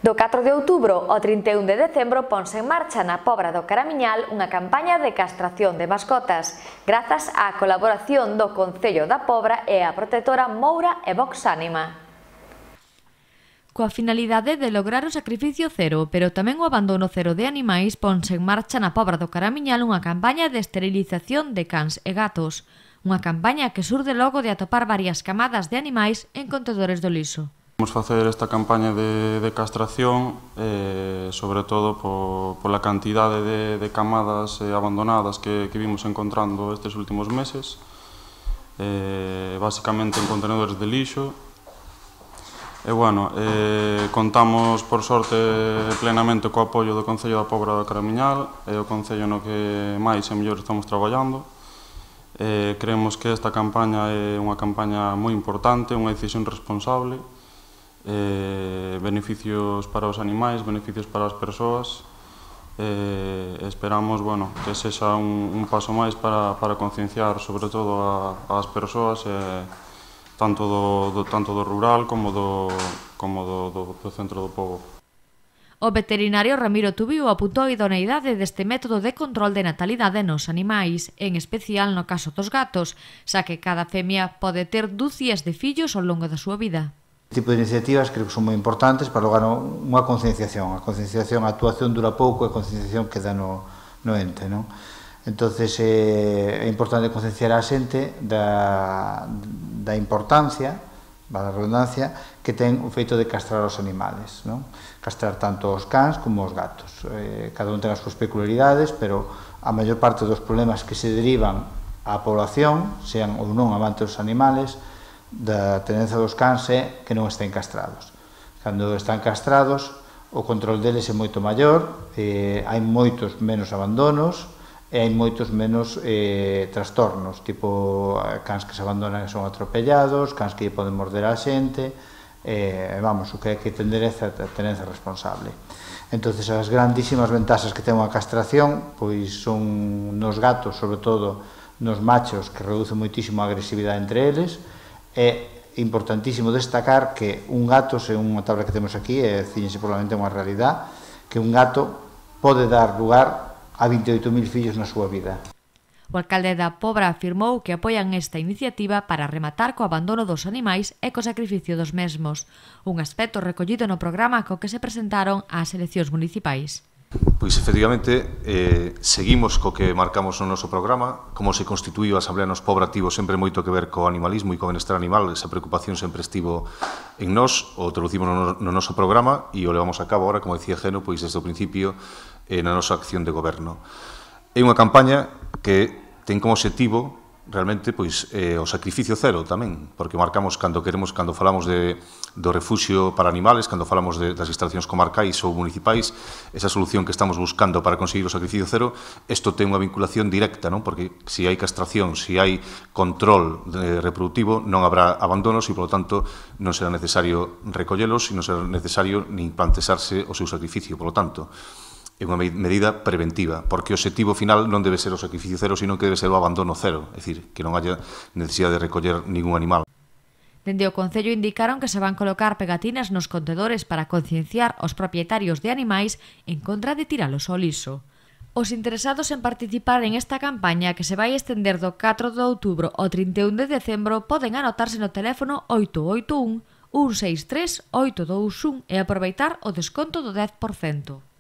Do 4 de outubro ao 31 de decembro ponse en marcha na Pobra do Caramiñal unha campaña de castración de mascotas, grazas á colaboración do Concello da Pobra e a protectora Moura e Vox Ánima. Coa finalidade de lograr o sacrificio cero, pero tamén o abandono cero de animais, ponse en marcha na Pobra do Caramiñal unha campaña de esterilización de cans e gatos. Unha campaña que surde logo de atopar varias camadas de animais en contedores do lixo. Vamos facer esta campaña de castración, sobre todo pola cantidade de camadas abandonadas que vimos encontrando estes últimos meses, basicamente en contenedores de lixo. E, bueno, contamos, por sorte, plenamente co apoio do Concello da Pobra do Caramiñal, é o Concello no que máis e mellor estamos traballando. Creemos que esta campaña é unha campaña moi importante, unha decisión responsable, beneficios para os animais, beneficios para as persoas. Esperamos, bueno, que sexa un paso máis para concienciar sobre todo ás persoas, tanto do rural como do centro do pobo. O veterinario Ramiro Tubiu apuntou a idoneidade deste método de control de natalidade nos animais, en especial no caso dos gatos, xa que cada femia pode ter dúcias de fillos ao longo da súa vida. Este tipo de iniciativas creo que son moi importantes para lograr unha concienciación. A concienciación, a actuación dura pouco e a concienciación queda no ente, non? Entonces é importante concienciar a xente da importancia, da redundancia, que ten o feito de castrar os animales, non? Castrar tanto os cans como os gatos. Cada un ten as súas peculiaridades, pero a maior parte dos problemas que se derivan á población, sean ou non amantes dos animales, da tendencia dos cans é que non estén castrados. Cando están castrados, o control deles é moito maior, hai moitos menos abandonos e hai moitos menos trastornos, tipo cans que se abandonan e son atropellados, cans que poden morder a xente, vamos, o que hai que tender é a tenencia responsable. Entonces, as grandísimas ventaxas que ten unha castración, pois son nos gatos, sobre todo nos machos, que reduce moitísimo a agresividade entre eles. É importantísimo destacar que un gato, según a tabla que temos aquí, fíjense, probablemente unha realidade, que un gato pode dar lugar a 28.000 fillos na súa vida. O alcalde da Pobra afirmou que apoian esta iniciativa para rematar co abandono dos animais e co sacrificio dos mesmos, un aspecto recollido no programa co que se presentaron ás eleccións municipais. Pois, efectivamente, seguimos co que marcamos no noso programa. Como se constituíu a Asamblea nos Pobra tivo sempre moito que ver co animalismo e co benestar animal. Esa preocupación sempre estivo en nós, o traducimos no noso programa e o levamos a cabo ahora, como decía Geno, pois desde o principio na nosa acción de goberno. É unha campaña que ten como obxectivo realmente pois o sacrificio cero tamén, porque marcamos cando falamos do refuxio para animales, cando falamos das instalacións comarcais ou municipais, esa solución que estamos buscando para conseguir o sacrificio cero, isto ten unha vinculación directa, non? Porque se hai castración, se hai control reproductivo, non habrá abandonos e, polo tanto, non será necesario recollelos e non será necesario nin plantexarse o seu sacrificio, polo tanto. É unha medida preventiva, porque o obxectivo final non debe ser o sacrificio cero, sino que debe ser o abandono cero, é dicir, que non haya necesidade de recoller ningún animal. Dende o Concello indicaron que se van colocar pegatinas nos contedores para concienciar os propietarios de animais en contra de tiralos ao lixo. Os interesados en participar en esta campaña, que se vai estender do 4 de outubro ao 31 de decembro, poden anotarse no teléfono 881 163 821 e aproveitar o desconto do 10%.